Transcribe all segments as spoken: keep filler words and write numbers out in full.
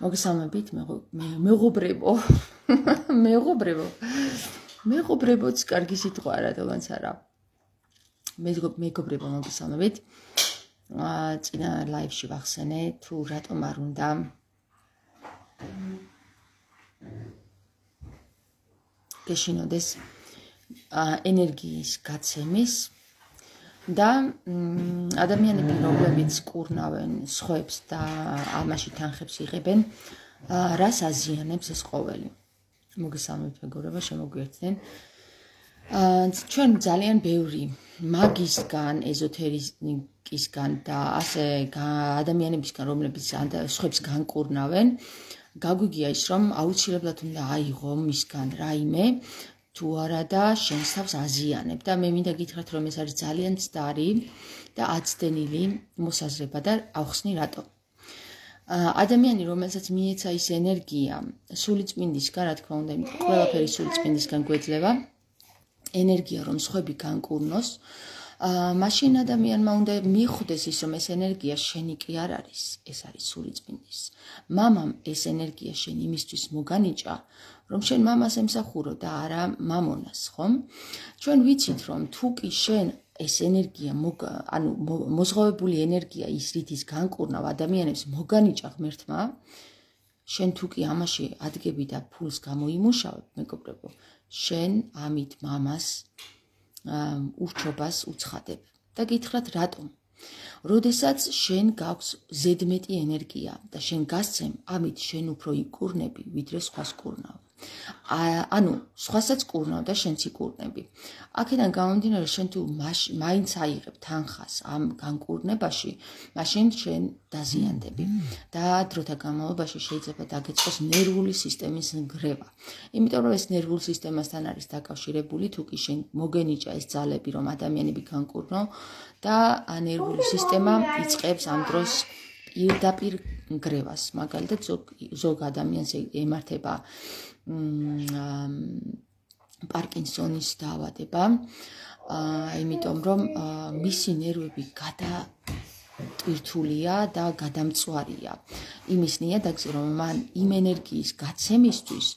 მოგესალმებით, მეღობრებო. მეღობრებო. მეღობრებოც კარგი სიტყვა არა, თუმაც არა. მეგობრებო, მოგესალმებით. აა წინა ლაივში ვახსენე, თუ რატომ არ უნდა გეშინოდეს ენერგიის გაცემის და ადამიანები, რომლებიც კურნავენ სხვებს და ამაში თანხებს იღებენ, რას აზიანებს ეს ყოველი. მოგესალმებით, მეგობრებო, შემოგვიერთდნენ. ჩვენ ძალიან ბევრი მაგისგან, ეზოთერიკისგან და ასე ადამიანებისგან, რომლებიც სხვებს განკურნავენ, გაგვიგია ის, რომ აუცილებლად უნდა აიღო მისგან რაიმე, თუ არა და შენს თავს აზიანებ და მე მინდა გითხრათ, რომ ეს არის ძალიან მცდარი და აცდენილი მოსაზრება და ავხსნი რატო. ადამიანი, რომელსაც მიეცა ის ენერგია სულიწმინდისგან, რა თქმა უნდა, იმიტომ ყველაფერი სულიწმინდისგან გვეძლევა, ენერგია, რომ სხვები განკურნოს, მაშინ ადამიანმა უნდა მიხვდეს ის, რომ ეს ენერგია შენი კი არ არის, ეს არის სულიწმინდის. მამამ ეს ენერგია შენ იმისთვის მოგანიჭა, რომ შენ მამას ემსახურო და არა მამონას, ხომ? ჩვენ ვიცით, რომ თუ კი შენ ეს ენერგია, ანუ მოზღოვებული ენერგია ის რითის განკურნავ ადამიანებს მოგანიჭა ღმერთმა, შენ თუ კი ამაში ადგები და ფულს გამოიმუშავებ, მეგობრებო, შენ ამით მამას ურჩობას უცხადებ. და გითხრათ რატომ? როდესაც შენ გაქვს ზედმეტი ენერგია და შენ გასცემ, ამით შენ უფრო იკურნები, ვიდრე სხვას კურნავ. ანუ სხვასაც კურნავ და შენც იკურნები. აქედან გამომდინარე, შენ თუ მაინც აიღებ თანხას ამ განკურნებაში, მაშინ შენ დაზიანდები და დროთა განმავლობაში შეიძლება დაგეწყოს ნერვული სისტემის ნგრევა. იმიტომ რომ ეს ნერვულ სისტემასთან არის დაკავშირებული, თუ კი შენ მოგენიჭა ეს ძალები, რომ ადამიანები განკურნო და ნერვული სისტემა იწყებს ამ დროს პირდაპირ ნგრევას. მაგალითად, ზოგ ადამიანს ემართება პარკინსონის დაავადება, იმიტომ რომ მისი ნერვები გადატვირთულია და გადამწვარია. იმის ნიადაგზე, რომ მან იმ ენერგიის გაცემისთვის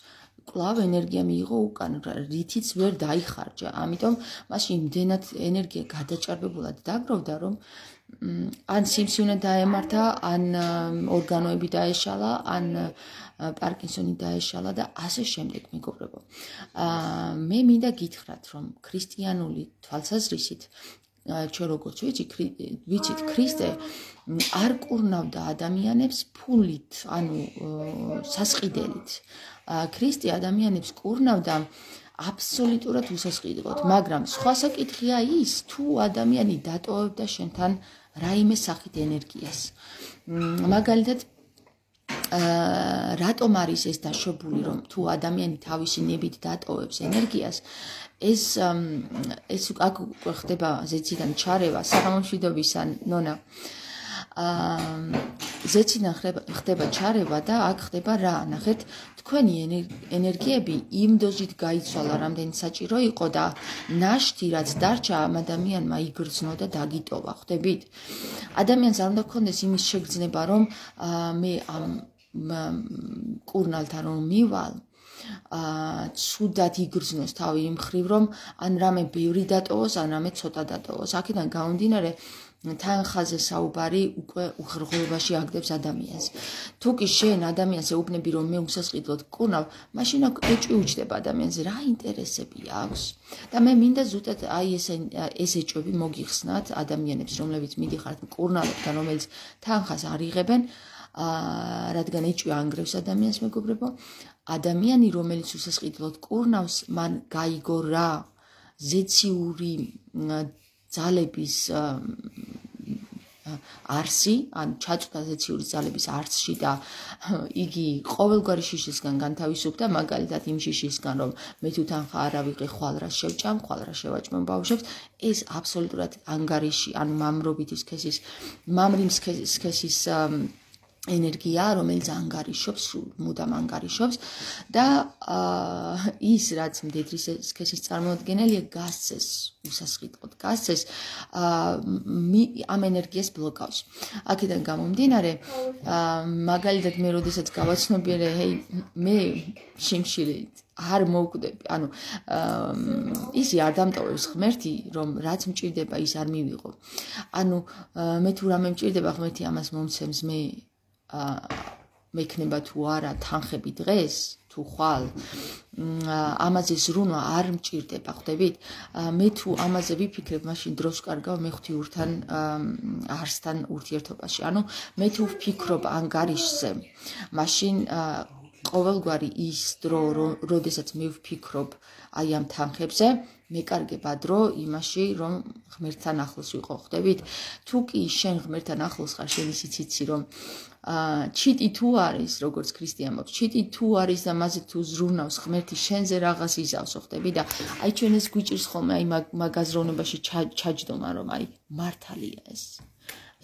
კვლავ ენერგია მიიღო უკან, რითიც ვერ დაიხარჯა. ამიტომ მასში იმდენად ენერგია გადაჭარბებულად დაგროვდა, რომ ან სიმსივნე დაემართა, ან ორგანოები დაეშალა, ან პარკინსონი დაეშალა და ასე შემდეგ, მეგობრებო. მე მინდა გითხრათ, რომ ქრისტიანული თვალსაზრისით, ჩვენ როგორც ვიცით, ქრისტე არ კურნავდა ადამიანებს ფულით, ანუ სასყიდელით. ქრისტე ადამიანებს კურნავდა აბსოლუტურად უსასყიდლოდ, მაგრამ სხვა საკითხია ის, თუ ადამიანი დატოვებდა შენთან რაიმე სახით ენერგიას. მაგალითად, რატომ არის ეს დაშვებული, რომ თუ ადამიანი თავისი ნებით დატოვებს ენერგიას, ეს ეს აქ ხდება ზეციდან ჩარევა, საღამომშვიდობისა ნონა. ზეციდან ხდება ჩარევა და აქ ხდება რა? ნახეთ, თქვენი ენერგიები იმ დოზით გაიცვალა, რამდენი საჭირო იყო და ნაშთი, რაც დარჩა, ამ ადამიანმა იგრძნო და დაგიტოვა, ხვდებით? ადამიანს არ უნდა გქონდეს იმის შეგრძნება, რომ მე ამ კურნალთან რომ მივალ, ცუდად იგრძნოს თავი იმ მხრივ, რომ ან რამე ბევრი დატოვოს, ან რამე ცოტა დატოვოს. აქედან გამომდინარე, თანხაზე საუბარი უკვე უხერხულობაში აგდებს ადამიანს. თუ კი შენ ადამიანს ეუბნები, რომ მე უსასყიდლოდ კურნავ, მაშინ ეჭვი უჩდება ადამიანზე, რა ინტერესები აქვს. და მე მინდა ზუსტად აი ეს ეჭვები მოგიხსნათ ადამიანებს, რომლებიც მიდიხართ მკურნალობთან, რომელიც თანხას არ იღებენ, რადგან ეჭვი ანგრევს ადამიანს, მეგობრებო. ადამიანი, რომელიც უსასყიდლოდ კურნავს, მან გაიგო რა ზეციური ძალების არსი, ან ჩაწვდა ზეციური ძალების არსში და იგი ყოველგვარი შიშისგან განთავისუფლდა, მაგალითად იმ შიშისგან, რომ მე თუ თანხა არ ავიღე, ხვალ რა შევჭამ, ხვალ რა შევაჭმევ ბავშვებს, ეს აბსოლუტურად ანგარიში, ანუ მამრობითი სქესის, მამრის სქესის ენერგია, რომელიც ანგარიშობს, მუდამ ანგარიშობს და ის რაც მდედრის სქესის წარმოადგენელია გასცეს, უსასყიდლოდ გასცეს, ამ ენერგიას ბლოკავს. აქედან გამომდინარე, მაგალითად მე როდესაც გავაცნობიერე, ჰეი, მე შიმშილი არ მოვკვდები, ანუ ისი არ დამტოვებს ღმერთი, რომ რაც მჭირდება ის არ მივიღო. ანუ მე თუ რამე მჭირდება, ღმერთი ამას მომცემს, მე მექნება თუ არა თანხები დღეს თუ ხვალ ამაზე ზრუნვა არ მჭირდება, ხვდებით? მე თუ ამაზე ვიფიქრებ, მაშინ დროს ვკარგავ მე ღვთიურთან არსთან ურთიერთობაში. ანუ მე თუ ვფიქრობ ანგარიშზე, მაშინ ყოველგვარი ის დრო, როდესაც მე ვფიქრობ აი ამ თანხებზე, მეკარგება დრო იმაში, რომ ღმერთთან ახლოს ვიყო, ხვდებით? თუ კი შენ ღმერთთან ახლოს ხარ, შენ ისიც იცი, რომ ჩიტი თუ არის, როგორც ქრისტიანობს, ჩიტი თუ არის და მასე თუ ზრუნავს ღმერთი შენზე რაღაც იზავს, ხვდები? და აი ჩვენ ეს გვიჭირს ხოლმე აი მაგ აზროვნებაში ჩაჯდომა, რომ აი მართალია ეს.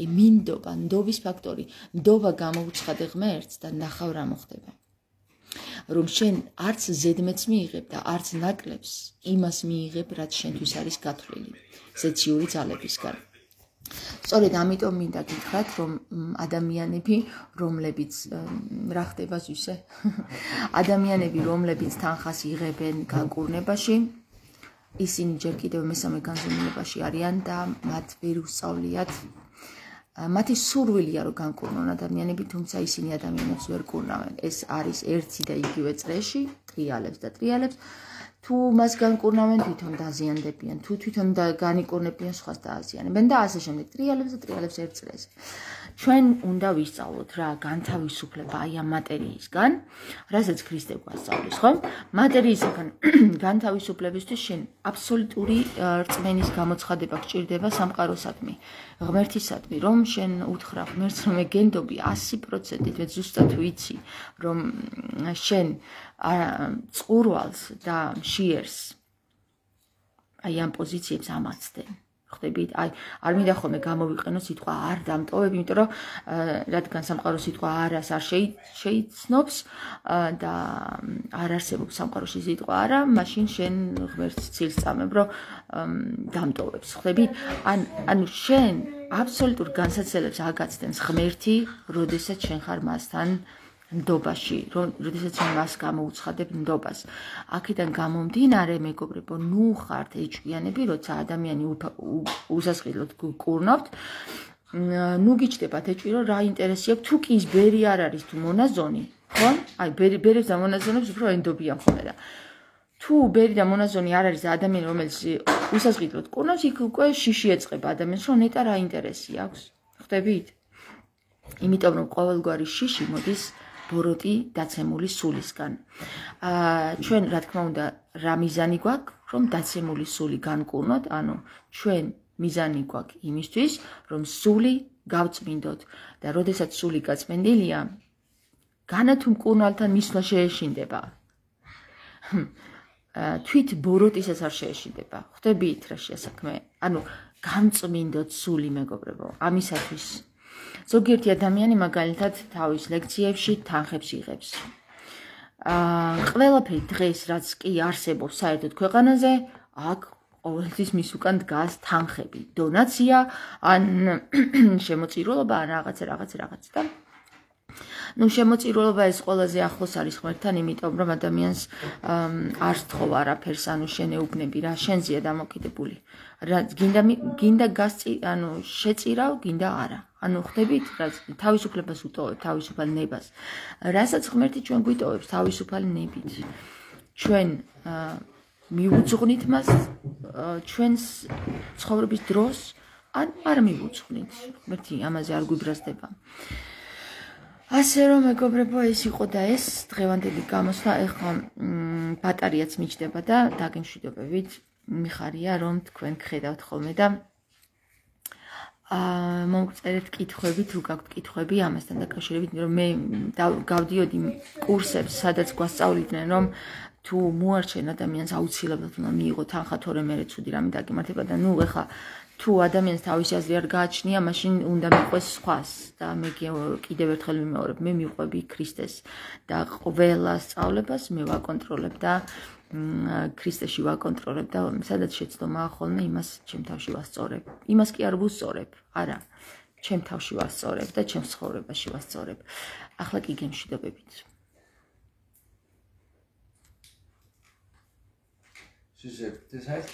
აი მინდობა, ნდობის ფაქტორი, ნდობა გამოუცხადე ღმერთს და ნახავ რა მოხდება. რომ შენ არც ზედმეტს მიიღებ და არც ნაკლებს იმას მიიღებ, რაც შენთვის არის გათვლილი ზეციური ძალებისგან. სწორედ ამიტომ მინდა გითხრათ, რომ ადამიანები, რომლებიც რა ხდება ზუსტ ადამიანები, რომლებიც თანხას იღებენ განკურნებაში, ისინი ჯერ კიდევ მესამე განზომილებაში არიან და მათ ვერ უსწავლიათ მათი სურვილია რომ განკურნონ ადამიანები, თუმცა ისინი ადამიანებს ვერ კურნავენ. ეს არის ერთი და იგივე წრეში, ტრიალებს და ტრიალებს. თუ მას განკურნავენ, თვითონ დაზიანდებიან, თუ თვითონ განიკურნებიან, სხვას დააზიანებენ და ასე შემდეგ. ტრიალებს და ტრიალებს ერთ წრეზე. ჩვენ უნდა ვისწავლოთ რა განთავისუფლება აი ამ მატერიისგან, რასაც ქრისტე გვასწავლის, ხო? მატერიისგან განთავისუფლებისთვის შენ აბსოლუტური რწმენის გამოცხადება გჭირდება სამყაროსადმი, ღმერთისადმი, რომ შენ უთხრა ღმერთს, რომ მე გენდობი ასი პროცენტით, მე ზუსტად ვიცი, რომ შენ წყურვალს და მშიერს აი ამ პოზიციებს ამაცდენ. ხვდებით? აი, არ მინდა ხოლმე გამოვიყენო სიტყვა არ დამტოვებ, იმიტომ რომ რადგან სამყარო სიტყვა არას არ შეიცნობს და არ არსებობს სამყაროში სიტყვა არა, მაშინ შენ ღმერთს ცილს წამებ, რომ დამტოვებს. ხვდებით? ანუ შენ აბსოლუტურ განსაცდელებს აგაცდენს ღმერთი, როდესაც შენ ხარ მასთან ნდობაში, როდესაც მას გამოუცხადებ ნდობას. აქედან გამომდინარე, მეგობრებო, ნუ ხართ ეჭვიანები, როცა ადამიანი უსასყიდლოდ გკურნავთ, ნუ გიჩნდებათ ეჭვი, რომ რა ინტერესი აქვს, თუ კი ის ბერი არ არის თუ მონაზონი, ხო? აი, ბერებს და მონაზონებს უფრო ენდობიან ხოლმე და თუ ბერი და მონაზონი არ არის ადამიანი, რომელიც უსასყიდლოდ კურნავს, იქ უკვე შიში ეწყება ადამიანს, რომ ნეტა რა ინტერესი აქვს. ხვდებით? იმიტომ რომ ყოველგვარი შიში მოდის ბოროტი დაცემული სულისგან. ჩვენ რა თქმა უნდა რა მიზანი გვაქვს, რომ დაცემული სული განკურნოთ, ანუ ჩვენ მიზანი გვაქვს იმისთვის, რომ სული გავწმინდოთ და როდესაც სული გაწმენდილია, განა თუ მკურნალთან მისვლა შეეშინდება. თვით ბოროტისას არ შეეშინდება. ხვდებით რა შეასაქმე? ანუ გამწმინდოთ სული, მეგობრებო, ამისათვის ზოგიერთი ადამიანი მაგალითად თავის ლექციებში თანხებს იღებს. ყველაფერი დღეს რაც კი არსებობს საერთოდ ქვეყანაზე, აქ ყოველთვის მის უკან დგას თანხები, დონაცია, ან შემოწირულობა, ან რაღაცა რაღაცა რაღაცა და ნუ შემოწირულობა ეს ყველაზე ახლოს არის ღმერთთან, იმიტომ რომ ადამიანს არ სთხოვ არაფერს, ანუ შენ ეუბნები რა, შენზეა დამოკიდებული. გინდა გინდა გასწი, ანუ შეწირავ, გინდა არა. ანუ ხვდებით, რა თავისუფლებას უტოვებ, თავისუფალ ნებას. რასაც ღმერთი ჩვენ გვიტოვებს თავისუფალ ნებით. ჩვენ მიუძღვნით მას ჩვენს ცხოვრების დროს, ან არ მიუძღვნით. ღმერთი ამაზე არ გვიბრაზდება. ასე რომ მეგობრებო, ეს იყო და ეს დღევანდელი გამოსვლა, ეხლა ბატარეაც მიჩნდება და დაგემშვიდობებით. მიხარია რომ თქვენ გხედავთ ხოლმე და აა მომწერეთ კითხვები, თუ გაქვთ კითხვები ამასთან დაკავშირებით, რომ მე გავდიოდი კურსებს, სადაც გვასწავლიდნენ, რომ თუ მოარჩენ ადამიანს აუცილებლად უნდა მიიღო თანხა, თორემ მერე ცუდი რამე დაგემართება და ნუ ეხა თუ ადამიანს თავისი აზრი არ გააჩნია, მაშინ უნდა მიყვეს სხვას და მე კიდევ ერთხელ ვიმეორებ, მე მიყვები ქრისტეს და ყველა სწავლებას მე ვაკონტროლებ და ქრისტეში ვაკონტროლებ და სადაც შეცდომა ხოლმე იმას ჩემ თავში ვასწორებ. იმას კი არ ვუსწორებ, არა, ჩემ თავში ვასწორებ და ჩემ ცხოვრებაში ვასწორებ. ახლა კი გემშვიდობებით. Suzette, das heißt,